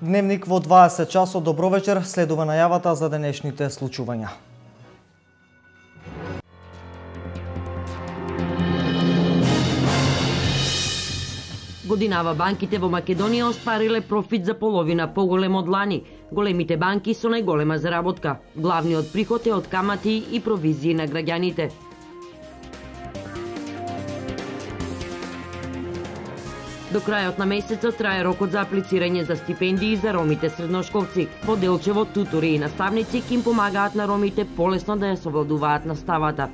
Дневник во 20 часот. Добро вечер, следува најавата за денешните случувања. Годинава банките во Македонија оствариле профит за половина поголем од лани. Големите банки со најголема заработка. Главниот приход е од камати и провизии на граѓаните. До крајот на месецот трае рокот за аплицирање за стипендии за ромите средношколци. Во Делчево тутори и наставници ќе им помагаат на ромите полесно да ја совладуваат наставата.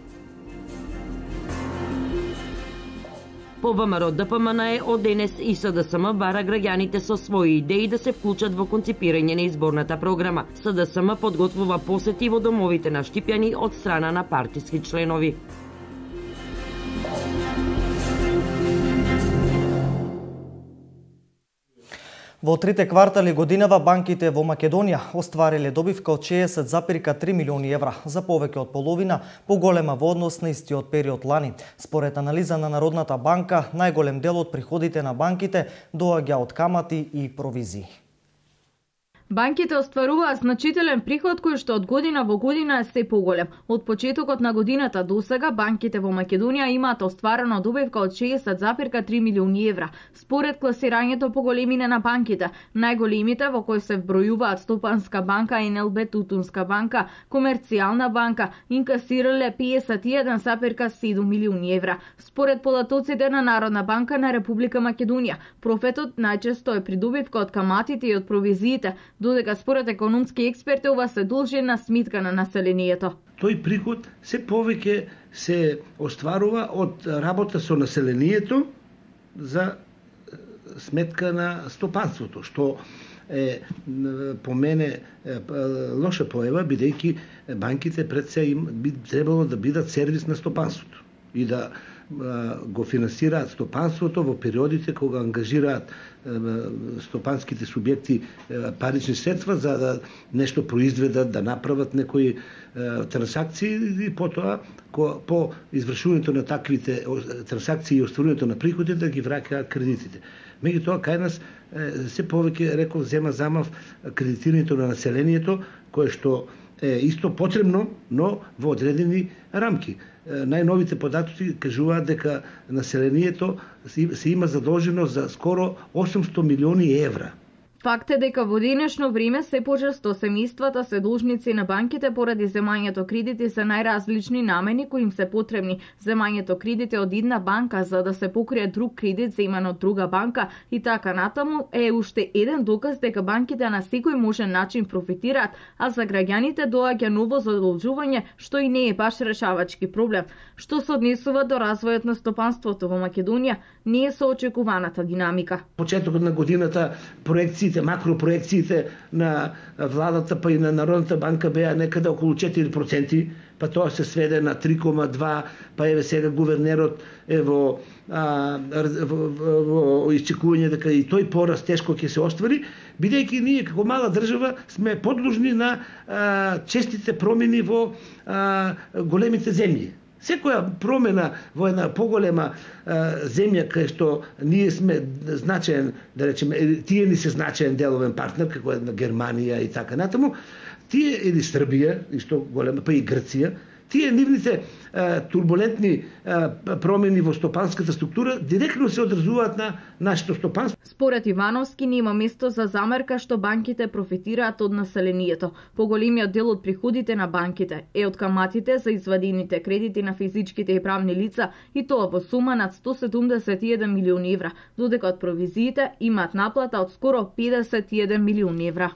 По ВМРО ДПМН од денес и СДСМ бара граѓаните со своји идеи да се вклучат во конципирање на изборната програма. СДСМ подготвува посети во домовите на штипјани од страна на партиски членови. Во трите квартали годинава банките во Македонија оствариле добивка од 60,3 милиони евра, за повеќе од половина поголема во однос на истиот период лани. Според анализа на Народната банка, најголем дел од приходите на банките доаѓа од камати и провизии. Банките остваруваат значителен приход кој што од година во година е се поголем. Од почетокот на годината до сега банките во Македонија имаат остварено добивка од 60,3 милиони евра. Според класирањето по големина на банките, најголемите во кои се вбројуваат Стопанска банка, НЛБ, Тутунска банка, Комерцијална банка, инкасирале 51,7 милиони евра. Според податоците на Народна банка на Република Македонија, профитот најчесто е придобивка од каматите и од провизиите, додека според економски експерти ова се должи на сметка на населението. Тој приход се повеќе се остварува од работа со населението за сметка на стопанството, што е по мене лоша појава, бидејќи банките пред се би требало да бидат сервис на стопанството и да го финансираат стопанството во периодите кога ангажираат стопанските субјекти парични средства за да нешто произведат, да направат некои трансакции и потоа по извршувањето на таквите трансакции и остварувањето на приходи да ги враќаат кредитите. Меѓутоа кај нас се повеќе, реков, зема замав кредитирањето на населението, кое што е исто потребно, но во одредени рамки. Најновите податоци кажуваат дека населението се има задолжено за скоро 800 милиони евра. Факт е дека во денешно време се почесто семејствата се должници на банките поради земањето кредити за најразлични намени кои им се потребни. Земањето кредити од една банка за да се покрие друг кредит земан од друга банка и така натаму е уште еден доказ дека банките на секој можен начин профитираат, а за граѓаните доаѓа ново задолжување што и не е баш решавачки проблем. Што се однесува до развојот на стопанството во Македонија, не е соочекуваната динамика. Почетокот на годината проекциите, макропроекциите на владата па и на Народната банка беа некаде околу 4%, па тоа се сведе на 3,2%, па еве сега гувернерот е во исчекување дека и тој пораст тешко ќе се оствари, бидејќи ние како мала држава сме подложни на честите промени во големите земји. Секоја промена во една поголема земја кај што ние сме значаен, да речеме, тие ни се значаен деловен партнер, како една Германија и така натаму, тие или Србија, исто голема, па и Грција, тие нивните турбулентни промени во стопанската структура директно се одразуваат на нашето стопанство. Според Ивановски нема место за замерка што банките профитираат од населението. Поголемиот дел од приходите на банките е од каматите за извадените кредити на физичките и правни лица и тоа во сума над 171 милиони евра, додека од провизиите имаат наплата од скоро 51 милиони евра.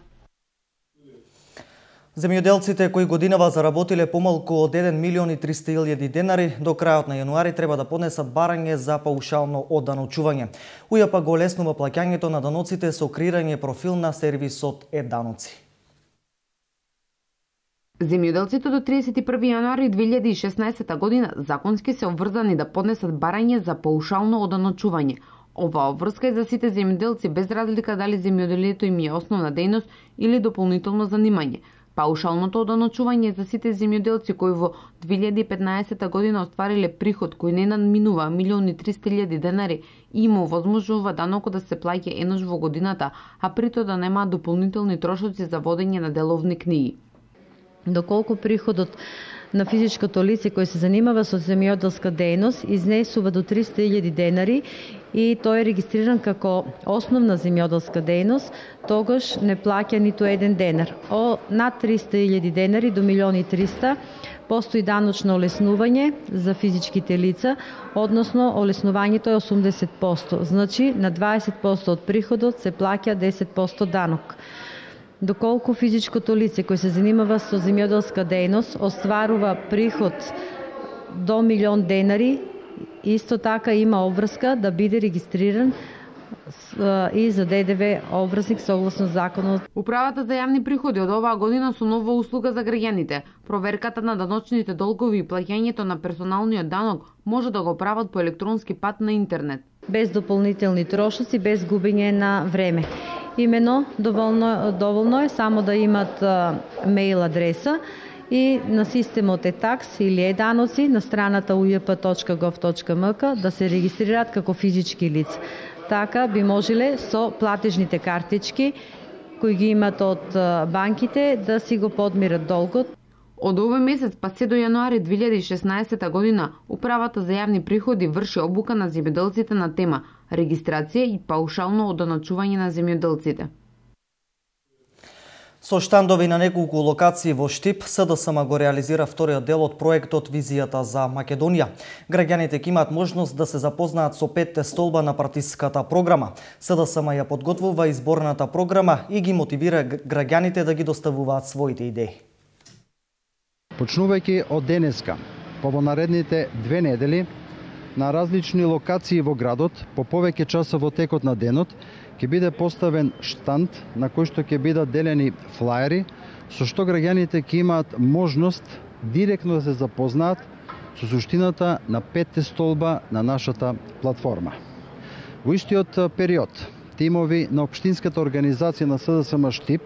Земјоделците кои годинава заработиле помалку од 1 милион и 300.000 денари до крајот на јануари треба да поднесат барање за паушално одданочување. УЈП го олеснува плаќањето на даноците со креирање профил на сервисот Е-даноци. Земјоделците до 31 јануари 2016 година законски се обврзани да поднесат барање за паушално одданочување. Оваа обврска е за сите земјоделци без разлика дали земјоделието им е основна дејност или дополнително занимање. Паушалното оданочување за сите земјоделци кои во 2015 година оствариле приход кој не надминува 1.300.000 денари и им овозможува данокот да се плаќа еднаш во годината, а при тоа да немаат дополнителни трошоци за водење на деловни книги. Доколку приходот на физичкото лице кој се занимава со земјоделска дејност изнесува до 300.000 денари и тој е регистриран како основна земјоделска дејност, тогаш не плаќа ниту еден денар. Над 300.000 денари до 1.300.000 постои даночно олеснување за физичките лица, односно олеснувањето е 80%, значи на 20% од приходот се плаќа 10% данок. Доколку физичкото лице кој се занимава со земјоделска дејност остварува приход до 1.000.000 денари, исто така има обврска да биде регистриран и за ДДВ обврзник согласно законот. Управата за јавни приходи од оваа година со нова услуга за граѓаните. Проверката на даночните долгови и плаќањето на персоналниот данок може да го прават по електронски пат на интернет. Без дополнителни трошоци, без губење на време. Имено доволно е само да имат мејл адреса и на системот e-tax или e-даноци на страната ujp.gov.mk да се регистрираат како физички лица. Така би можеле со платежните картички кои ги имат од банките да си го подмират долгот. Од овој месец па се до јануари 2016 година Управата за јавни приходи врши обука на земјоделците на тема регистрација и паушално оданочување на земјоделците. Со штандови на неколку локации во Штип, СДСМ го реализира вториот дел од проектот Визијата за Македонија. Граѓаните ќе имаат можност да се запознаат со 5 столба на партиската програма. СДСМ ја подготвува изборната програма и ги мотивира граѓаните да ги доставуваат своите идеи. Почнувајќи од денеска, во наредните 2 недели, на различни локации во градот, по повеќе часа во текот на денот, ќе биде поставен штанд на кој што ќе бидат делени флаери, со што граѓаните ќе имаат можност директно да се запознаат со суштината на 5 столба на нашата платформа. Во истиот период, тимови на Општинската организација на СДСМ Штип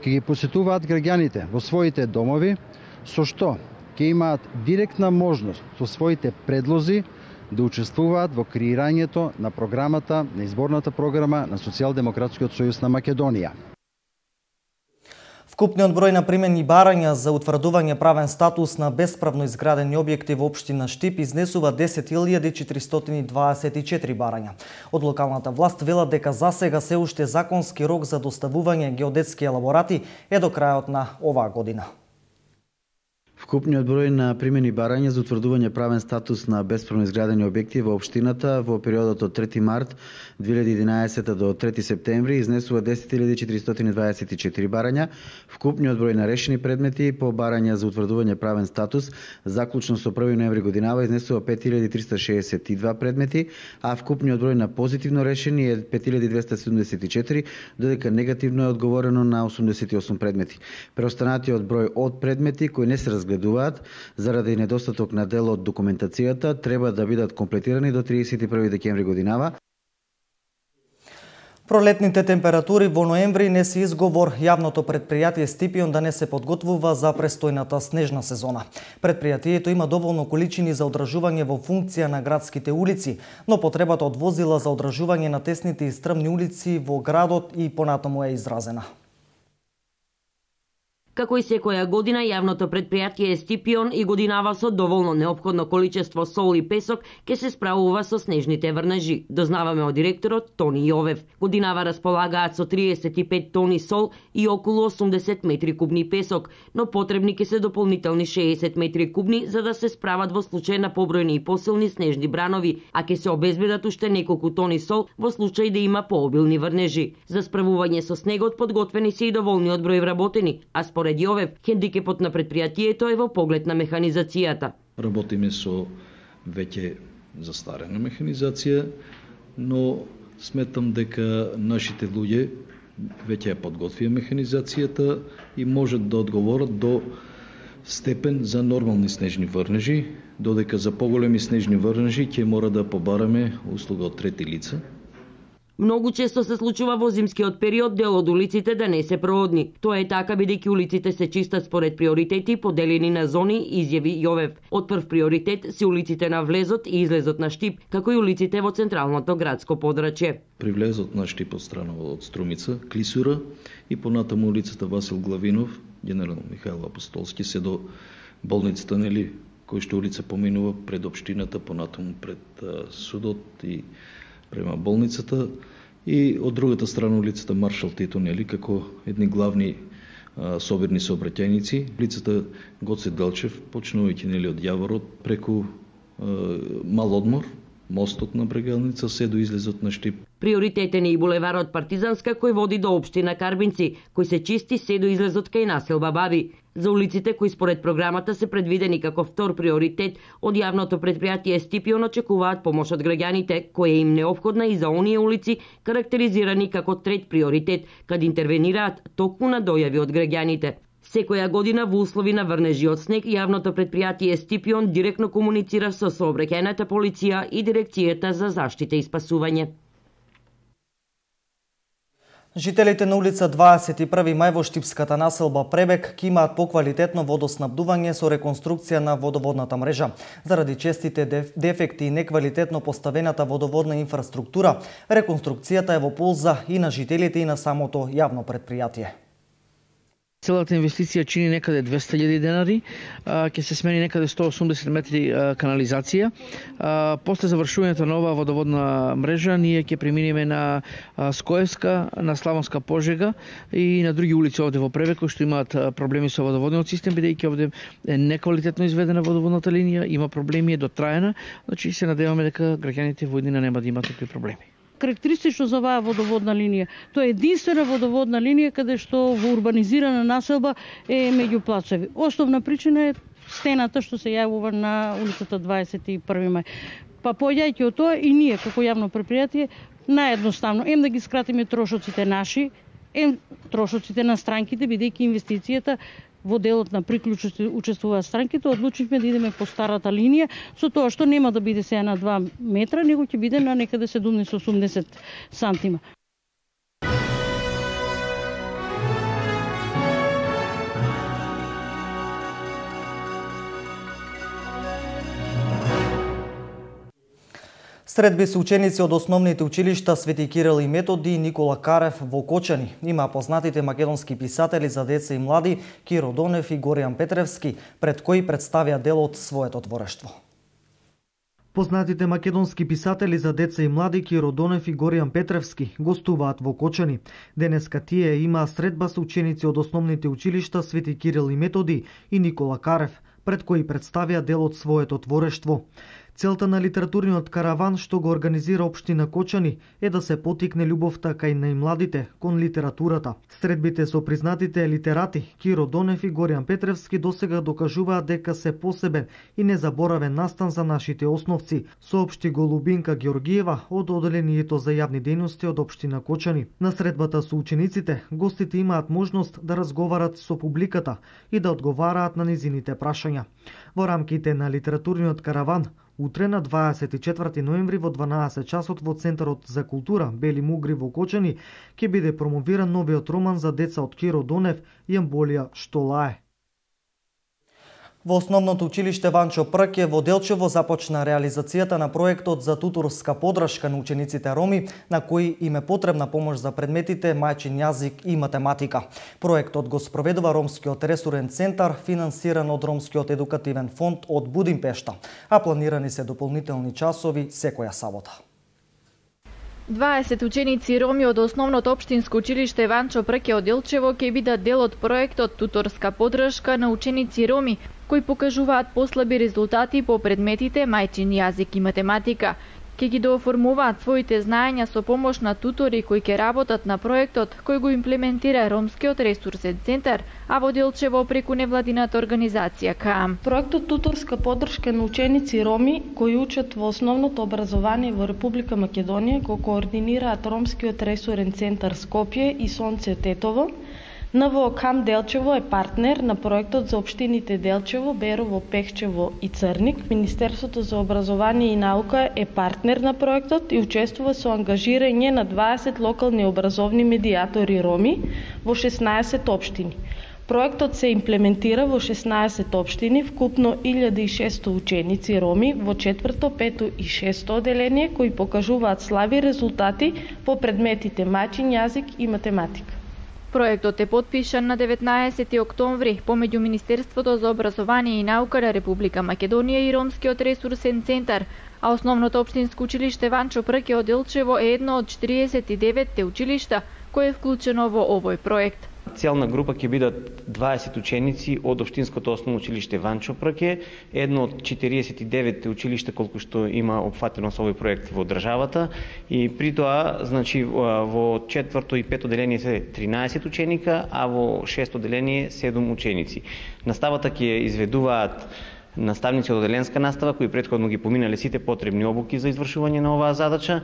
ќе ги посетуваат граѓаните во своите домови, со што ќе имаат директна можност со своите предлози да учествуваат во креирањето на програмата, на изборната програма на Социјалдемократскиот сојуз на Македонија. Вкупниот број на примени барања за утврдување правен статус на бесправно изградени објекти во општина Штип изнесува 10.424 барања. Од локалната власт велат дека засега се уште законски рок за доставување геодетски елаборати е до крајот на оваа година. Вкупниот број на примени барања за утврдување правен статус на бесправно изградени објекти во општината во периодот од 3 март 2011 до 3 септември изнесува 10.424 барања. Вкупниот број на решени предмети по барања за утврдување правен статус заклучно со 1 ноември годинава изнесува 5.362 предмети, а вкупниот број на позитивно решени е 5.274, додека негативно е одговорено на 88 предмети. Преостанатиот број од предмети кои не се разгледуваат заради недостаток на дел од документацијата треба да бидат комплетирани до 31 декември годинава. Пролетните температури во ноември не се изговор јавното предпријатие Стипион да не се подготвува за престојната снежна сезона. Предпријатието има доволно количини за одржување во функција на градските улици, но потребата од возила за одржување на тесните и стрмни улици во градот и понатаму е изразена. Како и секоја година, јавното предпријатие Стипион и годинава со доволно неопходно количество сол и песок ке се справува со снежните врнежи, дознаваме од директорот Тони Јовев. Годинава располагаат со 35 тони сол и околу 80 метри кубни песок, но потребни ке се дополнителни 60 метри кубни за да се справат во случај на побројни и посилни снежни бранови, а ке се обезбедат уште неколку тони сол во случај да има пообилни врнежи. За справување со снегот подготвени се и доволниот број вработени, а според Јовев, хендикепот на предпријатието е во поглед на механизацијата. Работиме со веќе застарена механизација, но сметам дека нашите луѓе веќе ја подготвија механизацијата и можат да одговорат до степен за нормални снежни врнежи, додека за поголеми снежни врнежи ќе мора да побараме услуга од трети лица. Многу често се случува во зимскиот период дел од улиците да не се проодни. Тоа е така бидејќи улиците се чистат според приоритети поделени на зони, изјави Јовев. Од прв приоритет се улиците на влезот и излезот на Штип, како и улиците во централното градско подрачје. При влезот на Штип од страна од Струмица, Клисура и понатаму улицата Васил Главинов, генерал Михаил Апостолски се до болницата Нели, кој што улица поминува пред општината, понатаму пред судот и према болницата, и од другата страна улицата Маршал Тито Нели, како едни главни собирни сообраќајници. Улицата Гоце Делчев, почнувајќи нели од Јаворот, преку Мал Одмор, мостот на Брегелница, се до излезот на Штип. Приоритетен е и булеварот Партизанска, кој води до општина Карбинци, кој се чисти се до излезот кај населба Баби. За улиците кои според програмата се предвидени како втор приоритет од јавното предпријатие Стипион очекуваат помош од граѓаните, која им неопходна и за оние улици карактеризирани како трет приоритет, каде интервенираат токму на дојави од граѓаните. Секоја година во услови на врнежи од снег, јавното предпријатие Стипион директно комуницира со сообраќајната полиција и дирекцијата за заштита и спасување. Жителите на улица 21 мај во штипската населба Пребек ќе имаат поквалитетно водоснабдување со реконструкција на водоводната мрежа. Заради честите дефекти и неквалитетно поставената водоводна инфраструктура, реконструкцијата е во полза и на жителите и на самото јавно предпријатие. Целата инвестиција чини некаде 200.000 денари, ќе се смени некаде 180 метри канализација. После завршувањето на оваа водоводна мрежа, ние ќе преминеме на Скоевска, на Славонска Пожега и на други улици овде во Пребек, кои што имаат проблеми со водоводниот систем, бидејќи овде е неквалитетно изведена водоводната линија, има проблеми, е дотраена, значи се надеваме дека граѓаните во иднина нема да имаат такви проблеми. Карактеристично за оваа водоводна линија. Тоа е единствена водоводна линија каде што во урбанизирана населба е меѓу плацови. Основна причина е стената што се јавува на улицата 21 мај. Па појајќи од тоа и ние како јавно предпријатие наедноставно да ги скратиме трошоците наши, трошоците на странките, бидејќи инвестицијата во делот на приклучоци учествуваат странките, одлучивме да идеме по старата линија, со тоа што нема да биде сега на 2 метра, него ќе биде на некаде 70-80 сантима. Средби се ученици од основните училишта Свети Кирил и Методи и Никола Карев во Кочани. Има познатите македонски писатели за деца и млади Киро Донев и Горијан Петревски, пред кои представија дел од своето творештво. Познатите македонски писатели за деца и млади Киро Донев и Горијан Петревски гостуваат во Кочани. Денеска тие имаа средба со ученици од основните училишта Свети Кирил и Методи и Никола Карев, пред кои представија дел од своето творештво. Целта на литературниот караван што го организира општина Кочани е да се потикне љубовта кај најмладите кон литературата. Средбите со признатите литерати Киро Донев и Горијан Петревски досега докажуваат дека се посебен и незаборавен настан за нашите основци, соопшти го Лубинка Георгиева од Оделението за јавни дејности од општина Кочани. На средбата со учениците, гостите имаат можност да разговарат со публиката и да одговараат на низините прашања. Во рамките на литературниот караван, утре на 24 ноември во 12 часот во Центарот за култура Бели Мугри во Кочани ќе биде промовиран новиот роман за деца од Киро Донев и Емболија Штолае. Во основното училиште Ванчо Прке во Делчево започна реализацијата на проектот за туторска подршка на учениците роми, на кои им е потребна помош за предметите мајчин јазик и математика. Проектот го спроведува Ромскиот ресурен центар, финансиран од Ромскиот едукативен фонд од Будимпешта, а планирани се дополнителни часови секоја сабота. 20 ученици роми од основното општинско училиште Ванчо Прке од Делчево ќе бидат дел од проектот туторска подршка на ученици роми, кои покажуваат послаби резултати по предметите мајчин јазик и математика. Ќе ги дооформуваат своите знаења со помош на тутори кои ќе работат на проектот кој го имплементира Ромскиот ресурсен центар, а во Делчево преку невладината организација КААМ. Проектот туторска подршка на ученици роми кои учат во основното образование во Република Македонија го координираат Ромскиот ресурен центар Скопје и Сонце Тетово. НВО КАМ Делчево е партнер на проектот за општините Делчево, Берово, Пехчево и Црник. Министерството за образование и наука е партнер на проектот и учествува со ангажирање на 20 локални образовни медиатори роми во 16 општини. Проектот се имплементира во 16 општини, вкупно 1600 ученици роми во 4-то, 5-то и 6-то оделение кои покажуваат слаби резултати по предметите мајчин јазик и математика. Проектот е потпишан на 19 октомври помеѓу Министерството за образование и наука на Република Македонија и Ромскиот ресурсен центар, а основното општинско училиште Ванчо Прке од Делчево е едно од 49 училишта кое е вклучено во овој проект. Целна група ќе бидат 20 ученици од општинското основно училиште Ванчо Прке, едно од 49 училишта колку што има опфатено со овој проект во државата, и при тоа, значи, во 4-то и 5-то деление се 13 ученика, а во 6-то деление 7 ученици. Наставата ќе изведуваат наставници од оделенска настава кои претходно ги поминале сите потребни обуки за извршување на оваа задача.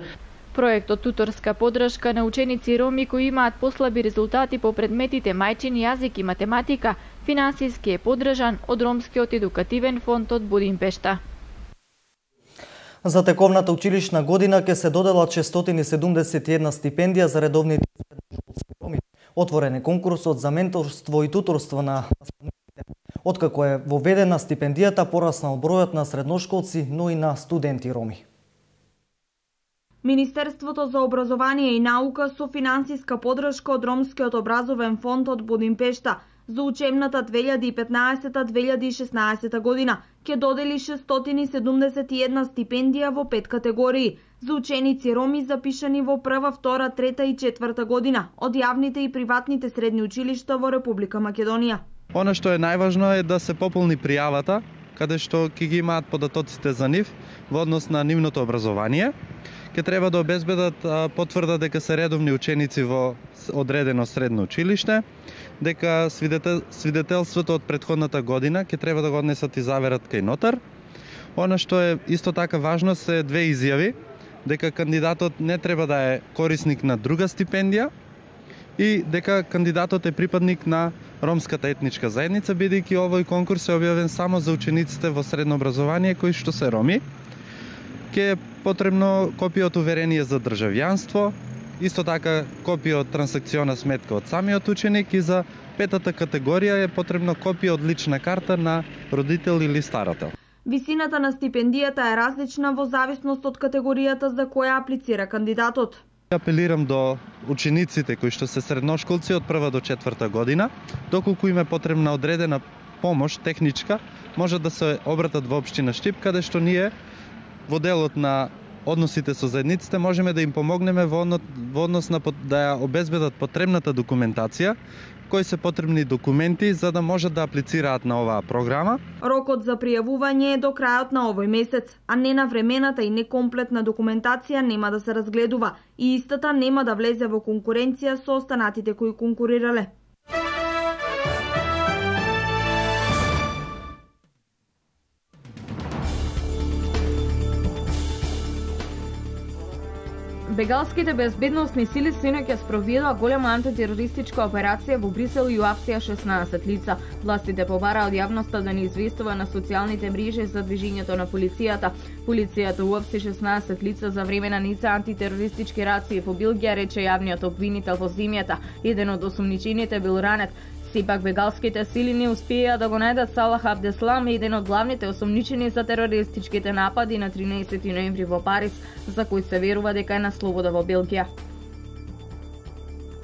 Проектот туторска подршка на ученици роми кои имаат послаби резултати по предметите мајчин јазик и математика финансиски е поддржан од Ромскиот едукативен фонд од Будимпешта. За тековната училишна година ќе се доделат 671 стипендија за редовните средношколски роми. Отворен е конкурсот за менторство и туторство на наставниците. Откако е воведена стипендијата, пораснал бројот на средношколци, но и на студенти роми. Министерството за образование и наука со финансиска поддршка од Ромскиот образовен фонд од Будимпешта за учебната 2015-2016 година ќе додели 671 стипендија во 5 категории за ученици роми запишани во прва, втора, трета и четврта година од јавните и приватните средни училишта во Република Македонија. Она што е најважно е да се пополни пријавата, каде што ќе ги имаат податоците за нив во однос на нивното образование. Ке треба да обезбедат потврда дека се редовни ученици во одредено средно училиште, дека свидетелството од претходната година ќе треба да го однесат и заверат кај нотар. Она што е исто така важно се две изјави, дека кандидатот не треба да е корисник на друга стипендија и дека кандидатот е припадник на ромската етничка заедница, бидејќи овој конкурс е објавен само за учениците во средно образование кои што се роми. Ке е потребно копија од уверение за државјанство, исто така копија од трансакциона сметка од самиот ученик и за петата категорија е потребно копија од лична карта на родител или старател. Висината на стипендијата е различна во зависност од категоријата за која аплицира кандидатот. Апелирам до учениците кои што се средношколци од прва до четврта година, доколку им е потребна одредена помош техничка, може да се обратат во општина Штип, каде што ние во делот на односите со заедниците можеме да им помогнеме во однос на да ја обезбедат потребната документација, кои се потребни документи за да можат да аплицираат на оваа програма. Рокот за пријавување е до крајот на овој месец, а ненавремената и некомплетна документација нема да се разгледува и истата нема да влезе во конкуренција со останатите кои конкурирале. Бегалските безбедносни сили синоќ ја спроведоа голема антитерористичка операција во Брисел и уапсија 16 лица. Властите побараа од јавноста да не известува на социјалните мрежи за движењето на полицијата. Полицијата уапси 16 лица за време на низ антитерористички рации во Белгија, рече јавниот обвинител во земјата. Еден од осумничените бил ранет. Сепак бегалските сили не успеа да го најдат Салах Абдеслам, еден од главните осомничени за терористичките напади на 13 ноември во Париз, за кој се верува дека е на слобода во Белгија.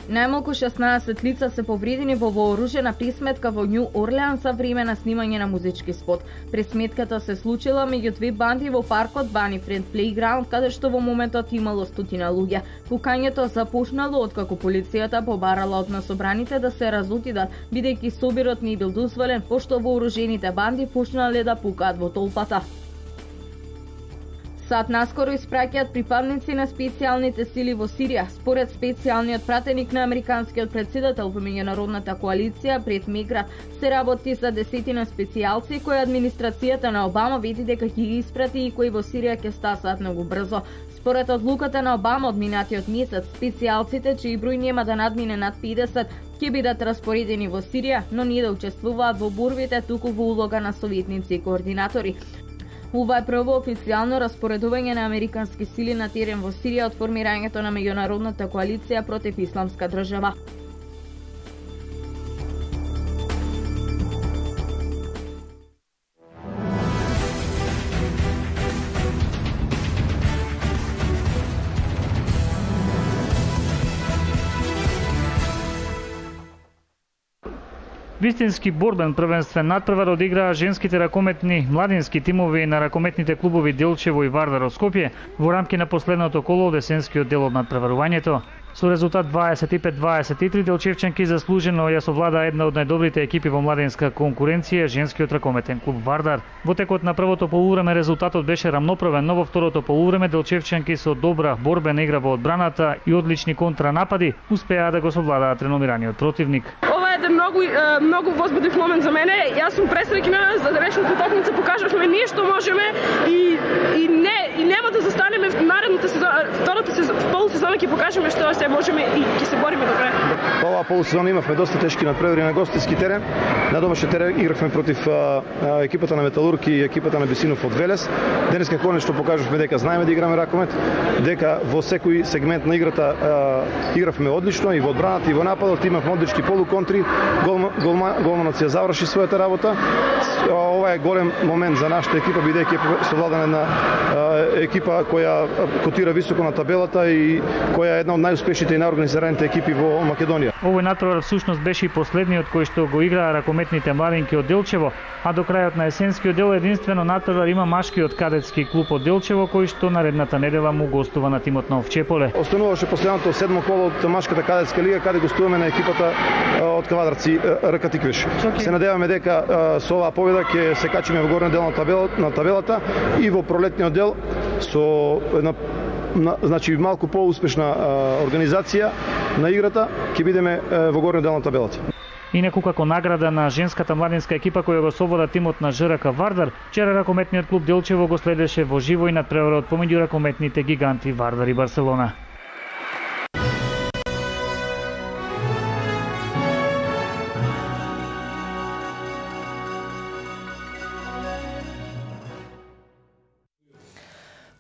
Најмалку 16 лица се повредени во вооружена пресметка во Њу Орлеан за време на снимање на музички спот. Пресметката се случила меѓу две банди во паркот Bunny Friend Playground, каде што во моментот имало стотина луѓе. Пукањето започнало откако полицијата побарала од насобраните да се разотидат, бидејќи собирот не бил дозволен, пошто вооружените банди почнале да пукаат во толпата. САД наскоро испраќаат припадници на специјалните сили во Сирија. Според специјалниот пратеник на американскиот претседател во меѓународната коалиција Брет Меграт, се работи за десетина специјалци кои администрацијата на Обама види дека ќе ги испрати и кои во Сирија ќе стасаат многу брзо. Според одлуката на Обама од минатиот месец, специјалците чиј број нема да надмине над 50 ќе бидат распоредени во Сирија, но не да учествуваат во борбите, туку во улога на советници и координатори. Ова е прво официјално распоредување на американски сили на терен во Сирија од формирањето на меѓународната коалиција против исламска држава. Вистински борбен првенствен надпревар одиграа женските ракометни младински тимови на ракометните клубови Делчево и Вардар од Скопје во рамки на последното коло од есенскиот дел од надпреварувањето. Со резултат 25-23 делчевчанки заслужено ја совладаа една од најдобрите екипи во младинска конкуренција, женскиот ракометен клуб Вардар. Во текот на првото полувреме резултатот беше рамноправен, но во второто полувреме делчевчанки со добра борбена игра во одбраната и одлични контранапади успеа да го совладаат реномираниот противник. Еден многу возбудив момент за мене. Јас сум пресреќна за денешната утакмица, покажавме ние што можеме и нема да застанеме в наредната сезона, втората полусезона ќе покажеме што се можеме и ќе се бориме до крај. Оваа полусезона имавме доста тешки надпревари на гостински терен. На домашен терен игравме против екипата на Металург и екипата на Бесинов од Велес. Денеска конечно покажавме дека знаеме да играме ракомет, дека во секој сегмент на играта игравме одлично и во одбраната и во нападот, имавме одлични полуконтри. Голманот ја заврши својата работа. Ова е голем момент за нашата екипа, бидејќи е совладана на екипа која котира високо на табелата и која е една од најуспешните и најорганизираните екипи во Македонија. Овој натпревар всушност беше и последниот кој што го играа ракометните младинки од Делчево, а до крајот на есенскиот дел единствено натпревар има машкиот кадетски клуб од Делчево, кој што наредната недела му гостува на тимот на Овчеполе. Остануваше последното седмо коло од машката кадетска лига, каде гостуваме на екипата од Кавадарци РК Тиквиш. Се надеваме дека со оваа победа ќе се качиме во горниот дел на табелата и во пролетниот дел со една малку поуспешна организација на играта ќе бидеме во горниот дел на табелата. Инаку како награда на женската младинска екипа која го совлада тимот на ЖРК Вардар, вчера ракометниот клуб Делчево го следеше во живо и надпреварот помеѓу ракометните гиганти Вардар и Барселона.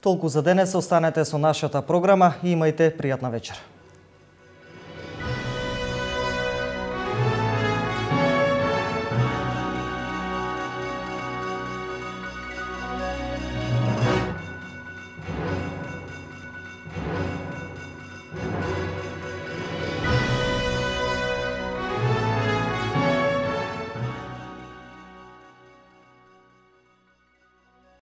Толку за денес, останете со нашата програма и имајте пријатна вечер.